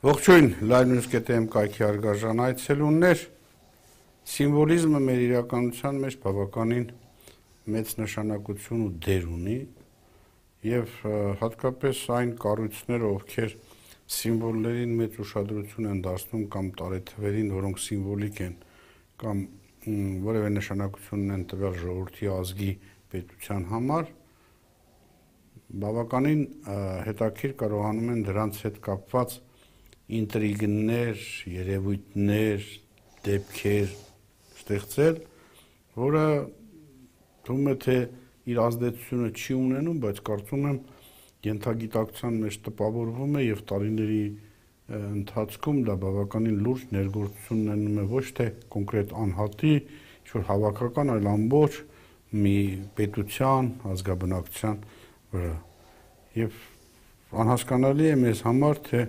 Ողջույն, Live.am կայքի հարգարժան այցելուներ, սիմվոլիզմը մեր իրականության մեջ բավականին մեծ նշանակություն ու դեր ունի եւ հատկապես այն կառույցները, ովքեր սիմվոլներին մեծ ուշադրություն են դարձնում կամ տարեթվերին, որոնք սիմվոլիկ են կամ որևէ նշանակություն են տվել ժողովրդի ազգի պետության համար, բավականին հետաքրքիր կարողանում են դրանց հետ կապված ինտրիգներ, երևույթներ, դեպքեր ստեղծել, որը թվում է թե իր ազդեցությունը չի ունենում, բայց կարծում եմ ենթագիտակցության մեջ տպավորվում է եւ տարիների ընթացքում դա բավականին լուրջ ներգործություն ունենում է ոչ թե կոնկրետ անհատի, ինչ-որ հավաքական, այլ ամբողջ մի պետության, ազգաբնակության վրա։ Եվ անհասկանալի է մեզ համար, թե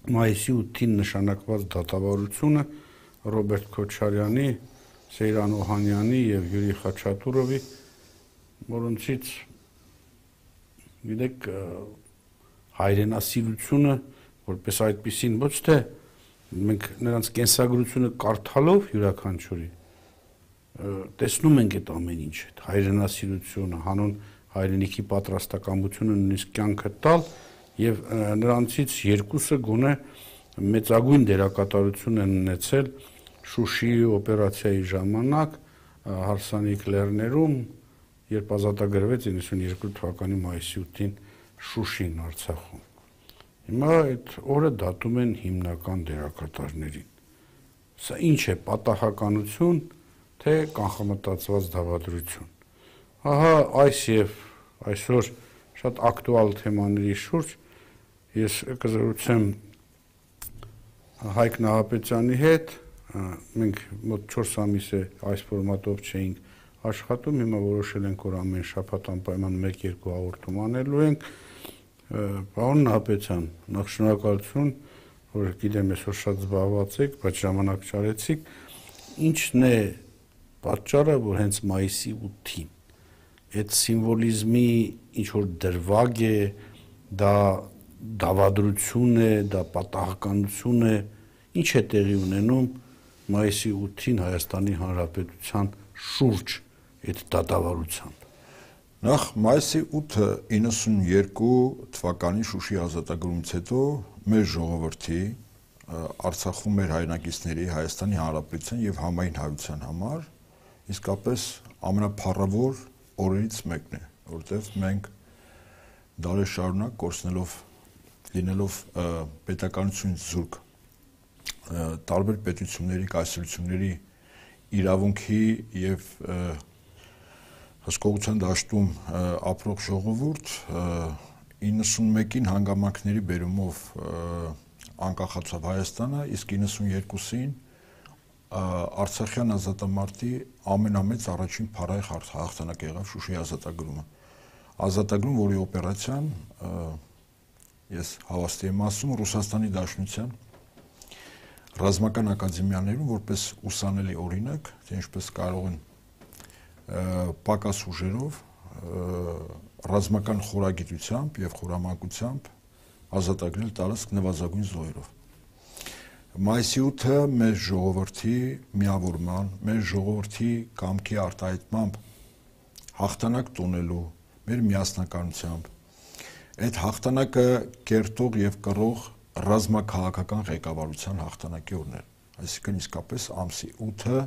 մայիսի 8-ին նշանակված դատավարությունը Ռոբերտ Քոչարյանի, Սեյրան Օհանյանի եւ Յուրի Խաչատուրովի, որոնցից գիտեք հայրենասիրությունը որպես այդպեսին ոչ թե մենք նրանց կենսագրությունը կարդալով յուրաքանչյուրի տեսնում ենք այդ ամեն ինչ, հայրենասիրությունը, հանուն հայրենիքի պատրաստակամությունը նույնիսկ կյանքը տալ եւ նրանցից երկուսը գոնե մեծագույն դերակատարություն են ունեցել Շուշիի օպերացիայի ժամանակ հարսանիք լեռներում, երբ ազատագրվեց 92 թվականի մայիսի 8-ին Շուշին Արցախում։ Հիմա այդ օրը դատում են հիմնական դերակատարներին։ Սա ինչ է, պատահականություն, թե կանխամտածված դավադրություն։ Ահա այս եւ այսօր շատ ակտուալ թեմաների շուրջ ես կզրուցեմ Հայկ Նահապետյանի հետ, մենք մոտ 4 ամիս է այս ֆորմատով չէինք աշխատում, հիմա որոշել ենք, որ ամեն շաբաթ անպայման 1-2 հաղորդում անելու ենք։ Պարոն Նահապետյան, նախ շնորհակալություն, որ գիտեմ այսօր շատ զբաղված եք, բայց ժամանակ չարեցիք։ Ինչն է պատճառը, որ հենց մայիսի 8-ին այդ սիմվոլիզմի ինչ որ դրվագ է, դա դավադրություն է, դա պատահականություն է, ինչ է տեղի ունենում մայիսի 8-ին Հայաստանի Հանրապետության շուրջ այդ դատավարությամբ։ Նախ մայիսի 8-ը 92 թվականի Շուշի ազատագրումից հետո մեր ժողովրդի Արցախում մեր հայրենակիցների Հայաստանի Հանրապետության եւ համայն հայության համար իսկապես ամենափառավոր օրերից մեկն է, որտեղ մենք դարեր շարունակ կորցնելով լինելով պետականությունից զուրկ տարբեր պետությունների, կայսրությունների իրավունքի եւ հսկողության դաշտում ապրող ժողովուրդ 91-ին հանգամանքների բերումով անկախացավ Հայաստանը, իսկ 92-ին Արցախյան ազատամարտի ամենամեծ առաջին փառահեղ հաղթանակ եղավ Շուշիի ազատագրումը։ Ազատագրում, որի օպերացիան ես հավաստի եմ ասում Ռուսաստանի Դաշնության ռազմական ակադեմիաներում որպես ուսանելի օրինակ, թե ինչպես կարող են պակաս ուժերով ռազմական խորագիտությամբ եւ խորամանկությամբ ազատագրել տարածք նվազագույն զոհերով։ Մայիսի 8-ը մեր ժողովրդի միավորման, մեր ժողովրդի կամքի արտահայտմամբ հաղթանակ տոնելու, մեր միասնականությամբ այդ հաղթանակը կերտող եւ կռող ռազմաքաղաքական ղեկավարության հաղթանակի օրն է։ Այսինքն իսկապես ամսի 8-ը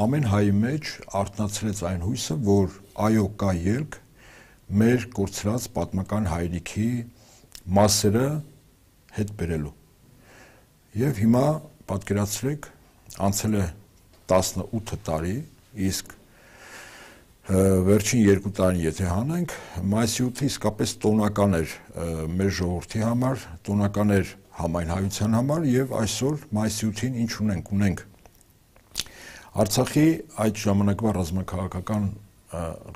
ամեն հայի մեջ արթնացրեց այն հույսը, որ այո կա ելք մեր կորցրած պատմական հայրենիքի մասերը հետ բերելու։ Եվ հիմա պատկերացրեք, անցել է 18 տարի, իսկ վերջին 2 տարին եթե հանենք, մայիսի 8-ը իսկապես տոնական էր մեր ժողովրդի համար, տոնական էր համայն հայության համար եւ այսօր մայիսի 8-ին ինչ ունենք Արցախի այդ ժամանակվա ռազմաքաղաքական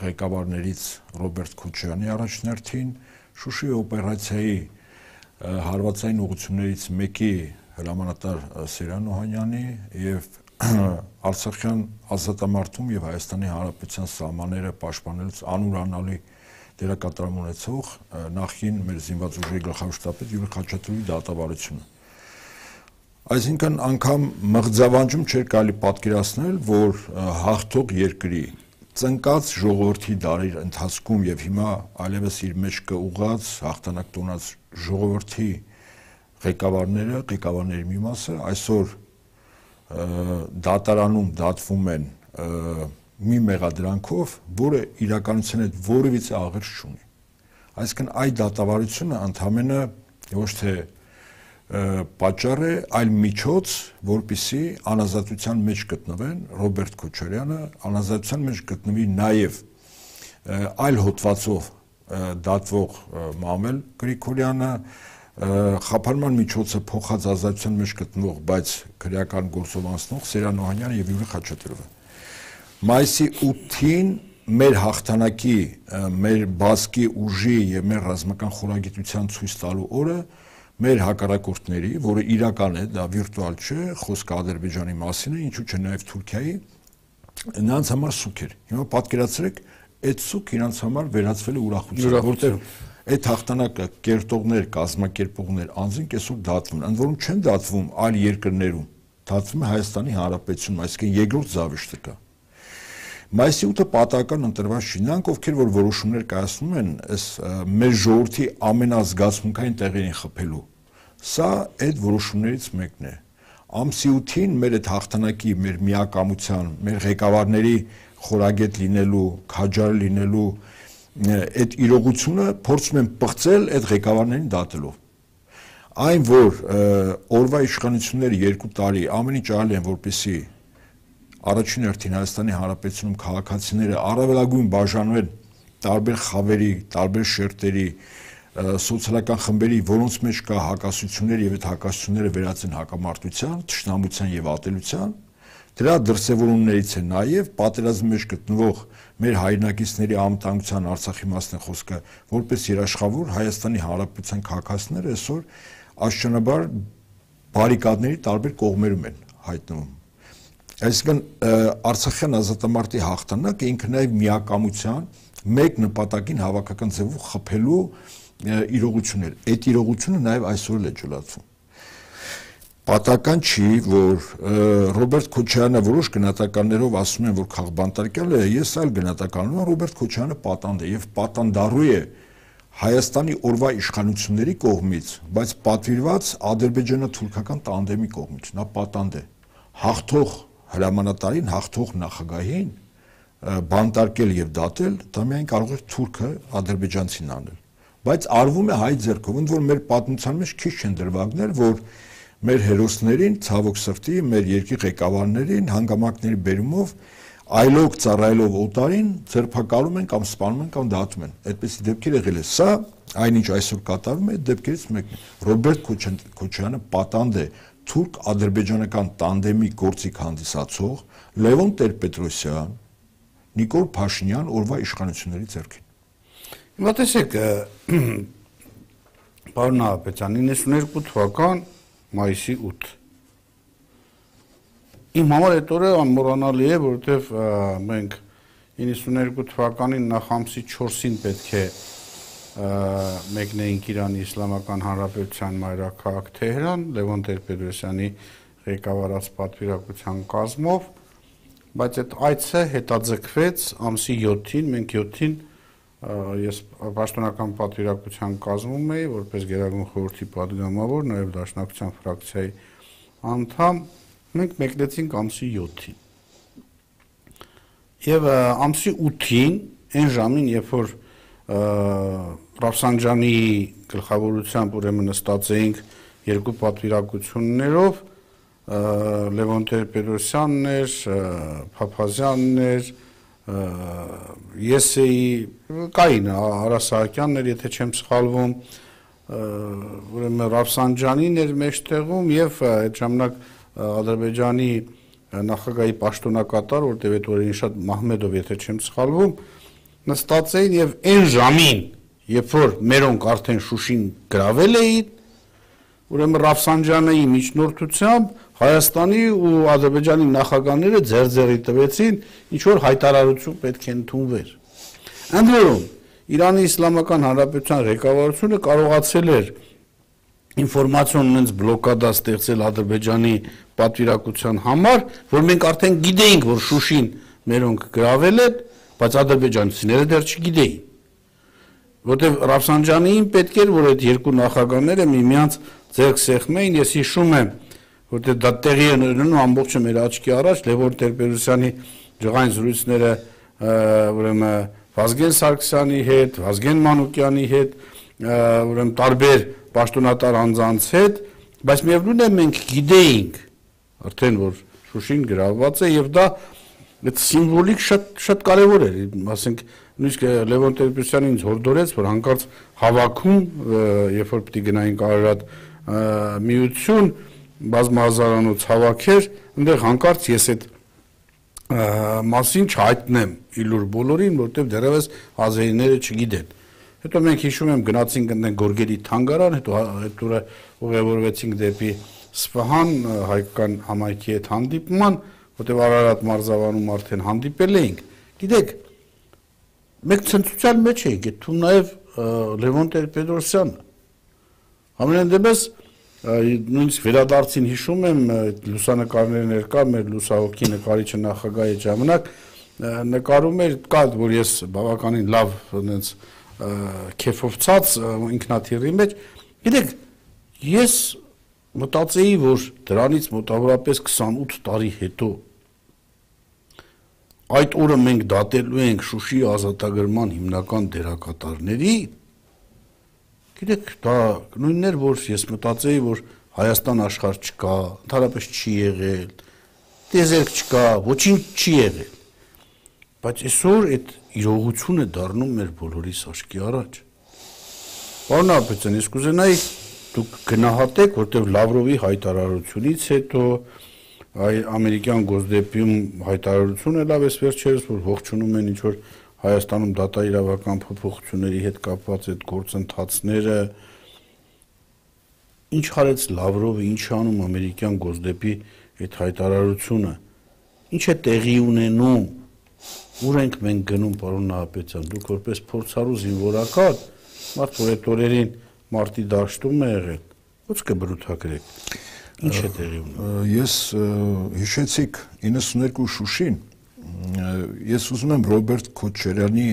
ղեկավարներից Ռոբերտ Քոչարյանի առաջնորդին Շուշի օպերացիայի հարվածային ուղղություններից մեկի հրամանատար Սեյրան Օհանյանի եւ Արցախյան ազատամարտում եւ Հայաստանի Հանրապետության սահմանները պաշտպանելուց անուրանալի դերակատարում ունեցող նախին մեր զինված ուժերի գլխավոր շտաբի Յուրի Խաչատուրովի դատավարությունը։ Այսինքն անգամ մղձավանջում չէր կարելի պատկերացնել, որ հաղթող երկրի ծնկած ժողովրդի դարի ընթացքում եւ հիմա այլևս իր մեջ կուղղած հաղթանակ տոնած ժողովրդի ղեկավարների մի մասը այսօր դատարանում դատվում են մի մեղադրանքով, որը իրականության հետ որևիցե աղերս չունի։ Այսինքն այդ դատավարությունը ընդհանրապես ոչ թե պատճառ է, այլ միջոց, որպեսզի անազատության մեջ գտնվեն Ռոբերտ Քոչարյանը, անազատության մեջ գտնվի նաև այլ հոդվածով դատվող Մամել Գրիգորյանը, խափանման միջոցը փոխած ազատության մեջ գտնվող, բայց քրեական գործով անցնող Սերան Օհանյանը եւ Յուրի Խաչատրյանը։ Մայիսի 8-ին մեր հաղթանակի, մեր բազկի ուժի եւ մեր ռազմական խորագիտության ցույց տալու օրը մեր հակառակորդների, որը իրական է, դա վիրտուալ չէ, խոսքը Ադրբեջանի մասին է, ինչու՞ չէ նաև Թուրքիայի, նրանց համար սուք էր։ Հիմա պատկերացրեք, այդ սուք իրանց համար վերածվել է ուրախության, որտեղ այդ հաղթանակը կերտողներ, կազմակերպողներ, անձինք այսօր դատվում են, ընդ որում չեն դատվում այլ երկրներում, դատվում է Հայաստանի Հանրապետությունում, այսինքն երկրորդ զավեշտը կա։ Մայիսի 8-ը պատահական ընտրված չի, նրանք ովքեր որ որոշումներ կայացնում են, այս մեր ժողովրդի ամենազգացմունքային տեղերին խփելու, սա այդ որոշումներից մեկն է։ Ամսի 8-ին մեր այդ հաղթանակի, մեր միակամության, մեր ղեկավարների խորագետ լինելու, քաջար լինելու այդ իրողությունը փորձում են պղծել այդ ղեկավարներին դատելով։ Այն որ օրվա իշխանությունները 2 տարի ամեն ինչ արել են, որպեսզի առաջին հերթին Հայաստանի Հանրապետությունում քաղաքացիները առավելագույն բաժանվել տարբեր խավերի, տարբեր շերտերի, սոցիալական խմբերի, որոնց մեջ կա հակասություններ եւ այդ հակասությունները վերածեն հակամարտության, թշնամության եւ ատելության, դրա դրսեւորումներից է նաեւ պատերազմի մեջ գտնվող մեր հայրենակիցների անվտանգության Արցախի մասն է խոսքը, որպես երաշխավոր Հայաստանի Հանրապետության քաղաքացիները այսօր աշճանաբար բարիկադների տարբեր կողմերում են հայտնվում։ Այսինքն Արցախյան ազատամարտի հաղթանակը ինքը նաև միակամության մեկ նպատակին հավաքական ձևով խփելու իրողություն էր։ Այդ իրողությունը նաև այսօր էլ է ջլացում։ Պատահական չի, որ Ռոբերտ Քոչարյանը որոշ գնահատականներով ասում են, որ քաղբանտարկյալ է, ես այլ գնահատականով եմ, Ռոբերտ Քոչարյանը պատանդ է եւ պատանդառու է Հայաստանի օրվա իշխանությունների կողմից, բայց պատվիրված ադրբեջանա-թուրքական տանդեմի կողմից, նա պատանդ է։ Հաղթող հրամանատարին, հաղթող նախագահին բանտարկել եւ դատել, դա միայն կարող է թուրքը ադրբեջանցին անել։ Բայց արվում է հայ ձեռքով, ընդ որ մեր պատմության մեջ քիչ չեն դրվագներ, որ մեր հերոսներին, ցավոք սրտի, մեր երկրի ղեկավարներին հանգամանքների բերումով այլոք ծառայելով օտարին ձերբակալում են կամ սպանում են կամ դատում են։ Այդպիսի դեպքեր եղել է։ Սա այնինչ այսօր կատարվում է, այդ դեպքերից մեկն է։ Ռոբերտ Քոչարյանը պատանդ է թուրք-ադրբեջանական տանդեմի գործիք հանդիսացող Լևոն Տեր-Պետրոսյան, Նիկոլ Փաշինյան օրվա իշխանությունների ձեռքին։ Հիմա տեսեք, պարոն Նահապետյան, 92 թվական մայիսի 8 Իմ համար այդ օրը անմոռանալի է, որովհետև մենք 92 թվականին նախ ամսի 4-ին պետք է մեկնեինք Իրանի Իսլամական Հանրապետության մայրաքաղաք Թեհրան, Լևոն Տեր-Պետրոսյանի ղեկավարած պատվիրակության կազմով, բայց այդ այցը հետաձգվեց ամսի 7-ին, մենք 7-ին ես պաշտոնական պատվիրակության կազմում էի, որպես Գերագույն խորհրդի պատգամավոր, նաև Դաշնակցության ֆրակցիայի անդամ, մենք մեկնեցինք ամսի 7-ին։ Եվ ամսի 8-ին, այն ժամին, երբ որ Ռաֆսանջանի գլխավորությամբ ուրեմն նստած էինք երկու պատվիրակություններով, Լևոն Տեր-Պետրոսյանն էր, Փափազյանն էր, ես էի, կային Արա Սահակյանն էր, եթե չեմ սխալվում, ուրեմն Ռաֆսանջանին էր մեջտեղում եւ այդ ժամանակ Ադրբեջանի նախագահի պաշտոնակատար, որտեղ այդ օրերին շատ Մահմեդով, եթե չեմ սխալվում, նստած էին եւ այն ժամին, երբ որ մերոնք արդեն Շուշին գրավել էին, ուրեմն Ռաֆսանջանիի միջնորդությամբ Հայաստանի ու Ադրբեջանի նախագահները ձեռձեռի տվեցին, ինչ որ հայտարարություն պետք է ընդունվեր։ Ընդ որում, Իրանի Իսլամական Հանրապետության ղեկավարությունը կարողացել էր ինֆորմացիոն ունենց բլոկադա ստեղծել Ադրբեջանի պատվիրակության համար, որ մենք արդեն գիտեինք, որ Շուշին մերոնք գրավել են, բայց ադրբեջանցիները դեռ չգիտեին։ Որտեւ Ռաֆսանջանիին պետք էր, որ այդ երկու նախագահները միմյանց ձեռք սեղմեին, ես հիշում եմ, որտեղ դա տեղի է ունենում ամբողջը մեր աչքի առաջ Լևոն Տեր-Պետրոսյանի ջղային զրույցները ուրեմն Վազգեն Սարգսյանի հետ, Վազգեն Մանուկյանի հետ, ուրեմն տարբեր պաշտոնատար անձանց հետ, բայց միևնույն է մենք գիտեինք արդեն որ Շուշին գրավված է եւ դա այդ սիմվոլիկ շատ կարեւոր էր, ասենք նույնիսկ Լևոն Տեր-Պետրոսյանը ինձ հորդորեց, որ հանկարծ հավաքում, երբ որ պիտի գնային Կարարատ միություն բազմահազարանոց հավաքեր, այնտեղ հանկարծ ես այդ մասին չհայտնեմ իլուր բոլորին, որտեղ դեռևս ազերիները չգիտեն։ Հետո մենք հիշում եմ գնացինք այնտեղ Գորգերի թանգարան, հետո ուղևորվեցինք դեպի Սպահան հայկական համայնքի հետ հանդիպման, որտեղ Արարատ մարզավանում արդեն հանդիպել էինք։ Գիտեք, մենք ցնծության մեջ էինք, թվում նաև Լևոն Տեր-Պետրոսյանը։ Ամենայն դեպս նույնիսկ վերադարձին հիշում եմ լուսանկարները ներկա մեր լուսահոգի նկարիչը նախագահի ժամանակ նկարում էր կա որ ես բավականին լավ այնց քեֆով ցած ինքնաթիռի մեջ գիտեք ես մտածեի որ դրանից մոտավորապես 28 տարի հետո այդ օրը մենք դատելու ենք Շուշի ազատագրման հիմնական դերակատարների Գիտեք, դա նույնն էր, որ ես մտածեի, որ Հայաստան աշխարհ չկա, ընդհանրապես չի եղել, տեզերք չկա, ոչինչ չի եղել։ Բայց այսօր այդ իրողությունը դառնում մեր բոլորիս աչքի առաջ։ Պարոն Ապետյան, ես կուզենայի դուք գնահատեք, որտեղ Լավրովի հայտարարությունից հետո ամերիկյան գոսդեպիում հայտարարությունը լավ էս վերջերս, որ ողջունում են ինչ-որ Հայաստանում դատաիրավական փոփոխությունների հետ կապված այդ գործընթացները ինչ արեց Լավրովը, ինչ անում ամերիկյան գոսդեպի այդ հայտարարությունը, ինչ է տեղի ունենում, ուր ենք մենք գնում, պարոն Նահապետյան, դուք որպես փորձառու զինվորական, մարդ որ այդ օրերին մարտի դաշտում է եղել, ո՞ց կբրութագրեք, ինչ է տեղի ունենում։ Ես հիշեցիք 92 Շուշին Ես ուզում եմ Ռոբերտ Քոչարյանի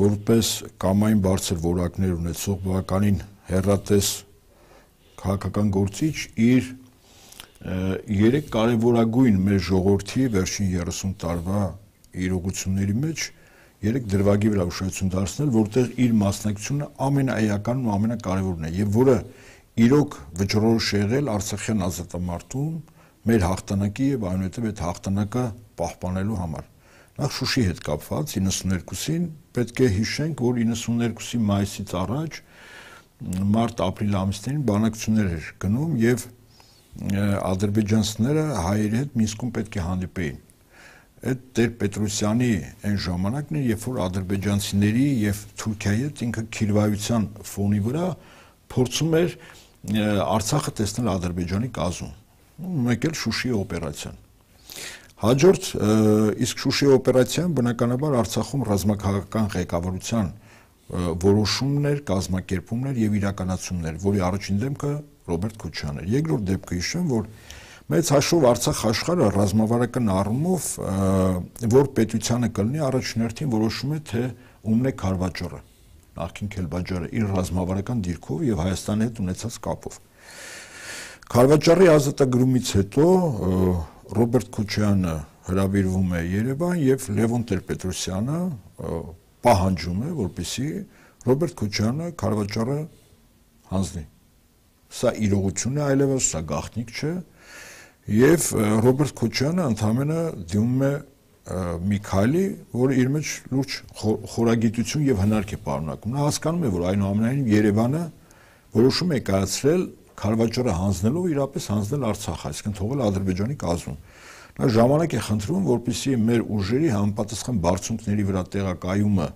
որպես կամային բարձր որակներ ունեցող բավականին հեռատես քաղաքական գործիչ իր երեք կարևորագույն մեր ժողովրդի վերջին 30 տարվա իրողությունների մեջ երեք դրվագի վրա ուշադրություն դարձնել, որտեղ իր մասնակցությունը ամենաէականն ու ամենակարևորն է եւ որը իրոք վճռորոշ եղել Արցախյան ազատամարտում մեր հաղթանակի եւ այնուհետեւ այդ հաղթանակը պահպանելու համար։ Նախ Շուշի հետ կապված 92-ին պետք է հիշենք, որ 92-ի մայիսից առաջ մարտ-ապրիլ ամիսներին բանակցություններ էր գնում եւ ադրբեջանցիները հայերի հետ Մինսկում պետք է հանդիպեին։ Այդ Տեր-Պետրոսյանի այն ժամանակն էր, երբ որ ադրբեջանցիների եւ Թուրքիայի հետ ինքը քիրվայության ֆոնի վրա փորձում էր Արցախը տեսնել Ադրբեջանի կազմում։ Մեկ էլ Շուշիի օպերացիան։ Հաջորդ իսկ Շուշիի օպերացիան բնականաբար Արցախում ռազմաքաղաքական ղեկավարության որոշումներ, կազմակերպումներ եւ իրականացումներ, որի առաջին դեմքը Ռոբերտ Քոչարյանն էր։ Երկրորդ դեպքը հիշեմ, որ մեծ հաշվով Արցախ աշխարհը ռազմավարական առումով որ պետությանը կլինի առաջնորդին որոշում է թե ումն է քարվաճառը, նախքին Քելբաջարը իր ռազմավարական դիրքով եւ Հայաստանի հետ ունեցած կապով։ Քարվաճառի ազատագրումից հետո Ռոբերտ Քոչարյանը հրավիրվում է Երևան եւ Լևոն Տեր-Պետրոսյանը պահանջում է, որպեսզի Ռոբերտ Քոչարյանը քարվաճառը հանձնի։ Սա իրողություն է այլևս, սա գաղտնիք չէ եւ Ռոբերտ Քոչարյանը ընդհանրապես դիմում է Միքայելի, որը իր մեջ լուրջ խորագիտություն եւ հնարք է պարունակում։ Նա հասկանում է, որ այնուամենայնիվ Երևանը որոշում է կայացրել քարվաճառը հանձնելով իրապես հանձնել Արցախ, այսինքն թողել Ադրբեջանի կազմում։ Նա ժամանակ է խնդրում, որպեսզի մեր ուժերի համապատասխան բարձունքների վրա տեղակայումը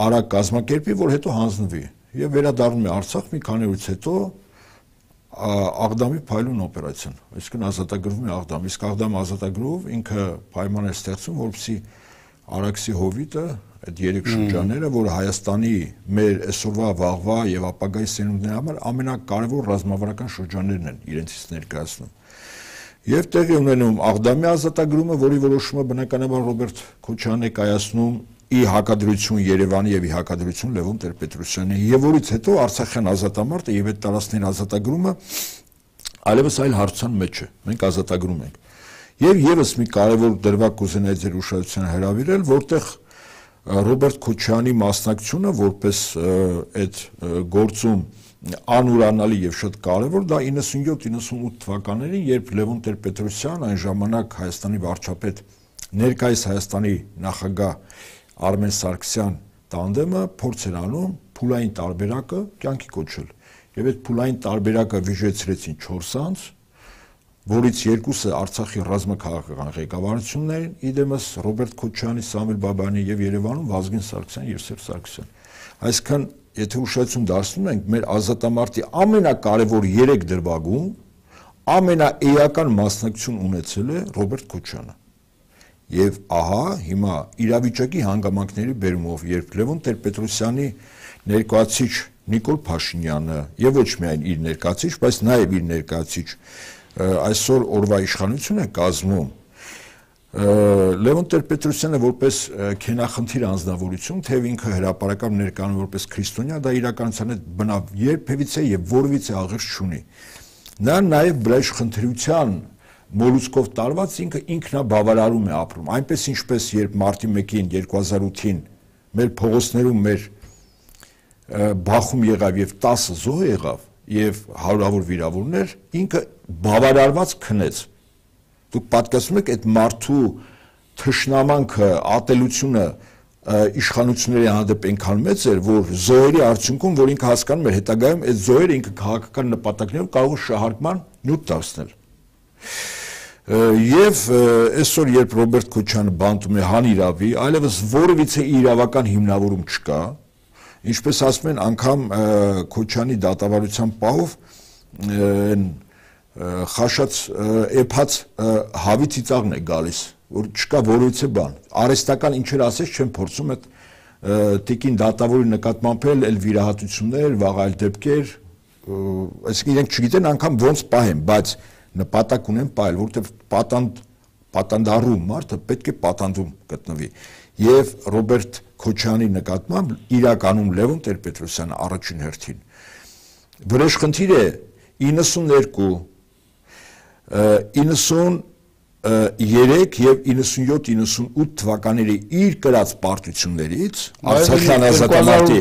արագ կազմակերպի, որ հետո հանձնվի եւ վերադառնում է Արցախ մի քանի օրից հետո Աղդամի փայլուն օպերացիան, այսինքն ազատագրվում է Աղդամ, իսկ Աղդամը ազատագրով ինքը պայման է ստեղծում, որպեսզի Արաքսի հովիտը այդ երեք շրջանները, որ Հայաստանի մեր այսօրվա, վաղվա եւ ապագայի սերունդների համար ամենակարևոր ռազմավարական շրջաններն են իրենցից ներկայացնում։ Եվ տեղի ունենում Աղդամի ազատագրումը, որի որոշումը բնականաբար Ռոբերտ Քոչարյանն է կայացնում ի հակադրություն Երևանի եւ ի հակադրություն Լևոն Տեր-Պետրոսյանի, եւ որից հետո Արցախյան ազատամարտը եւ այդ տարածքների ազատագրումը այլևս այլ հարցության մեջ է։ Մենք ազատագրում ենք։ Եվ եւս մի կարևոր դրվագ կուզենայի ձեր ուշադրությանը հրավիրել, որտեղ Ռոբերտ Քոչարյանի մասնակցությունը որպես այդ գործում անուրանալի եւ շատ կարևոր, դա 97-98 թվականներին, երբ Լևոն Տեր-Պետրոսյան, այն ժամանակ Հայաստանի վարչապետ, ներկայիս Հայաստանի նախագահ Արմեն Սարգսյան տանդեմը փորձ էր անում փուլային տարբերակը կյանքի կոչել։ Եվ այդ փուլային տարբերակը վիժեցրեցին 4 անձ, որից երկուսը Արցախի ռազմաքաղաքական ղեկավարությունն էին, իդեմս Ռոբերտ Քոչարյանի, Սամվել Բաբայանի եւ Երևանում Վազգեն Սարգսյան եւ Սերժ Սարգսյան։ Այսինքն, եթե ուշադրություն դարձնում ենք մեր ազատամարտի ամենակարևոր 3 դրվագում ամենաէական մասնակցություն ունեցել է Ռոբերտ Քոչարյանը։ Եվ ահա հիմա իրավիճակի հանգամանքների բերումով, երբ Լևոն Տեր-Պետրոսյանի ներկայացիչ Նիկոլ Փաշինյանը եւ ոչ միայն իր ներկայացիչ, բայց նաեւ իր ներկայացիչ այսօր օրվա իշխանություն է կազմում, Լևոն Տեր-Պետրոսյանը որպես քենախնդիր անձնավորություն, թե ինքը հրապարակավ ներկայանում որպես քրիստոնյա, դա իրականության հետ բնավ երբևիցե եւ որևիցե աղերս չունի։ Նա նաեւ բռեժխնդրության մոլուցկով տարված ինքը ինքնաբավարարում է ապրում, այնպես ինչպես երբ մարտի 1-ին 2008-ին մեր փողոցներում մեր բախում եղավ եւ 10 զոհ եղավ եւ հարյուրավոր վիրավորներ, ինքը բավարարված քնեց։ Դուք պատկերացնում եք այդ մարդու թշնամանքը, ատելությունը իշխանությունների հանդեպ այնքան մեծ էր, որ զոհերի արդյունքում, որ ինքը հասկանում էր հետագայում այդ զոհերը ինքը քաղաքական նպատակներով կարող է շահարկման նյութ դարձնել։ Եվ այսօր երբ Ռոբերտ Քոչարյանը բանտում է հանիրավի, այլևս որևիցե իրավական հիմնավորում չկա, ինչպես ասում են, անգամ Քոչարյանի դատավարության պահով խաշած էփած հավի ծիծաղն է գալիս, որ չկա որևիցե բան։ Արհեստական ինչեր ասես չեն փորձում այդ տիկին դատավորի նկատմամբ էլ վիրահատություններ, վաղ այլ դեպքեր, այսինքն իրենք չգիտեն անգամ ոնց պահեն, բայց նպատակ ունեն պահել, որովհետև պատանդառու մարդը պետք է պատանդում գտնվի։ Եվ Ռոբերտ Քոչարյանի նկատմամբ իրականում Լևոն Տեր-Պետրոսյանը առաջին հերթին վրեժխնդիր է 92, 93 եւ 97-98 թվականների իր կրած պարտություններից Արցախյան ազատամարտի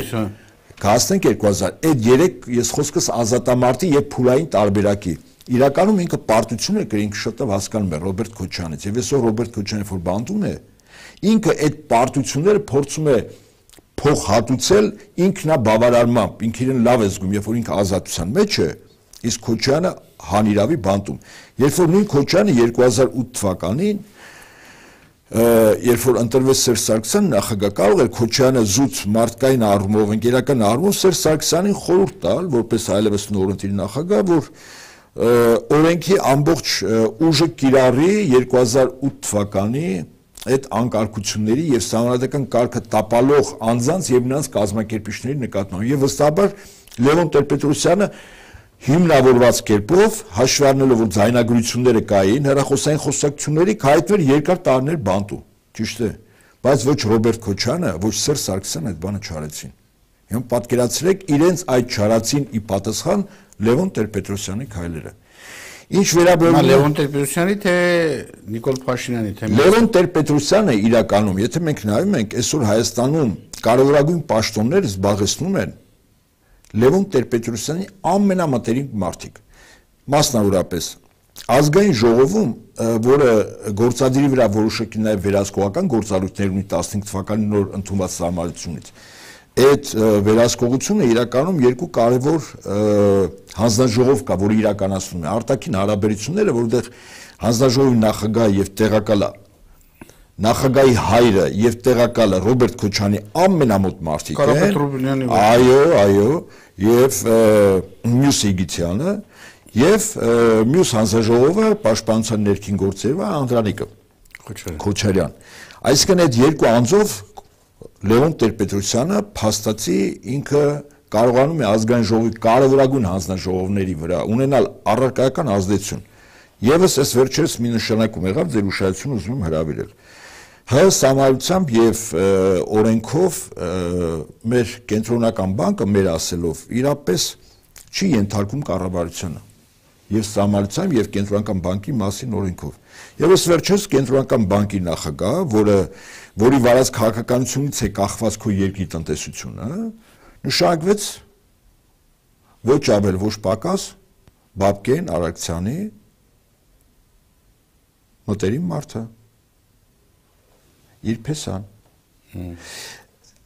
կհասնենք 2000, այդ 3 ես խոսքս ազատամարտի եւ փուլային տարբերակի իրականում ինքը պարտություն է կրին շտավ հասկանում է Ռոբերտ Քոչարյանից եւ այսօր Ռոբերտ Քոչարյանը որ բանտում է ինքը այդ պարտությունները փորձում է փոխհատուցել ինքնաբավարարմամբ, ինքը իրեն լավ է զգում, երբ որ ինքը ազատության մեջ է, իսկ Քոչարյանը հանիրավի բանտում։ Երբ որ նույն Քոչարյանը 2008 թվականին, երբ որ ընտրվեց Սերժ Սարգսյանը նախագահ, կարող էր Քոչարյանը զուտ մարդկային առումով, ընկերական առումով Սերժ Սարգսյանին խորհուրդ տալ, որպես այլևս նորընտիր նախագահ, որ օրենքի ամբողջ ուժը կիրառի 2008 թվականի այդ անկարգությունների եւ սահմանադրական կարգը տապալող անձանց եւ նրանց կազմակերպիչների նկատմամբ եւ վստահաբար Լևոն Տեր-Պետրոսյանը հիմնավորված կերպով հաշվի առնելով որ ձայնագրությունները կային հեռախոսային խոսակցությունների հայտվեր երկար տարիներ բանտում ճիշտ է բայց ոչ Ռոբերտ Քոչարյանը ոչ Սերժ Սարգսյանը այդ բանը չարեցին հիմա պատկերացրեք իրենց այդ չարացին ի պատասխան Լևոն Տեր-Պետրոսյանի քայլերը Ինչ վերաբերում Լևոն Տեր-Պետրոսյանի թե Նիկոլ Փաշինյանի թե Լևոն Տեր-Պետրոսյանը իրականում, եթե մենք նայում ենք այսօր Հայաստանում կարևորագույն պաշտոններ զբաղեցնում են Լևոն Տեր-Պետրոսյանի ամենամտերիմ մարդիկ։ Մասնավորապես ազգային ժողովում, որը գործադիրի վրա որոշակի նաև վերահսկողական գործառույթներ ունի 15 թվականի նոր ընդունված սահմանությունից, այդ վերահսկողությունը իրականում երկու կարևոր հանձնաժողով կա, որը իրականացնում է արտաքին հարաբերությունները, որտեղ հանձնաժողովի նախագահը եւ տեղակալը նախագահի հայրը եւ տեղակալը Ռոբերտ Քոչարյանի ամենամոտ մարդիկ են։ Այո, եւ Մյուս Իգիթյանը եւ մյուս հանձնաժողովը պաշտպանության ներքին գործերով Անդրանիկը Քոչարյան։ Այսինքն այդ երկու անձով Լևոն Տեր-Պետրոսյանը փաստացի ինքը կարողանում է ազգային ժողովի կարևորագույն հանձնաժողովների վրա ունենալ առարկայական ազդեցություն։ Եվս այս վերջերս մի նշանակում եղավ ձեր ուշադրությունը ուզում եմ հրավիրել։ ՀՀ համայնությամբ եւ օրենքով մեր կենտրոնական բանկը մեր ասելով իրապես չի ենթարկում կառավարությանը եւ համայնությամբ եւ կենտրոնական բանկի մասին օրենքով։ Եվ այս վերջերս կենտրոնական բանկի նախագահը, որի վարած քաղաքականությունից է կախված քո երկրի տնտեսությունը, նշանակվեց ոչ ավել ոչ պակաս Բաբկեն Արաքցյանի մտերիմ մարդը իր փեսան։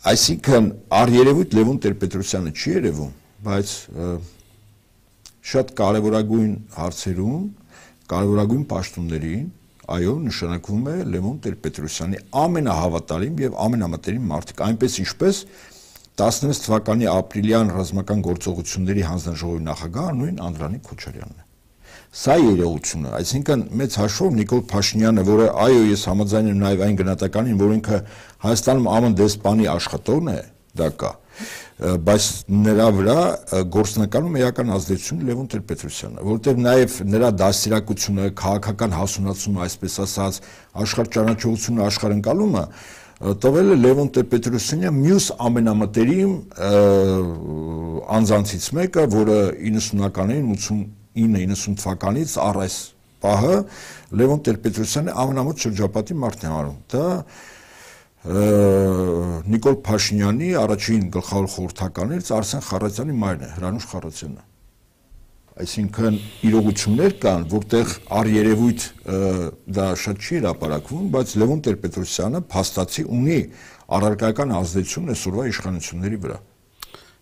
Այսինքն առերևույթ Լևոն Տեր-Պետրոսյանը չի երևում, բայց շատ կարևորագույն հարցերում, կարևորագույն պաշտոններին, այո, նշանակվում է Լևոն Տեր-Պետրոսյանի ամենահավատարիմ եւ ամենամտերիմ մարդիկ, այնպես ինչպես 16 թվականի ապրիլյան ռազմական գործողությունների հանձնաժողովի նախագահ նույն Անդրանիկ Քոչարյանն է։ Սա երևությունը, այսինքն մեծ հաշվով Նիկոլ Փաշինյանը, որը այո, ես համաձայն եմ նաև այն գնահատականին, որ ինքը Հայաստանում ԱՄՆ դեսպանի աշխատողն է, դա կա, բայց նրա վրա գործնականում էական ազդեցություն Լևոն Տեր-Պետրոսյանը, որովհետև նաև նրա դաստիարակությունը, քաղաքական հասունացումը, այսպես ասած, աշխարհճանաչողությունը, աշխարհընկալումը տվել է Լևոն Տեր-Պետրոսյանը մյուս ամենամտերիմ անձանցից մեկը, որը 90-ականներին 89-90 թվականից առ այս պահը Լևոն Տեր-Պետրոսյանը ամենամոտ շրջապատի մարդն է արում։ Դա Նիկոլ Փաշինյանի առաջին գլխավոր խորհրդականներից Արսեն Խառատյանի մայրն է, Հրանուշ Խառատյանը։ Այսինքն իրողություններ կան, որտեղ առերևույթ դա շատ չի հրապարակվում, բայց Լևոն Տեր-Պետրոսյանը փաստացի ունի առարկայական ազդեցություն այսօրվա իշխանությունների վրա։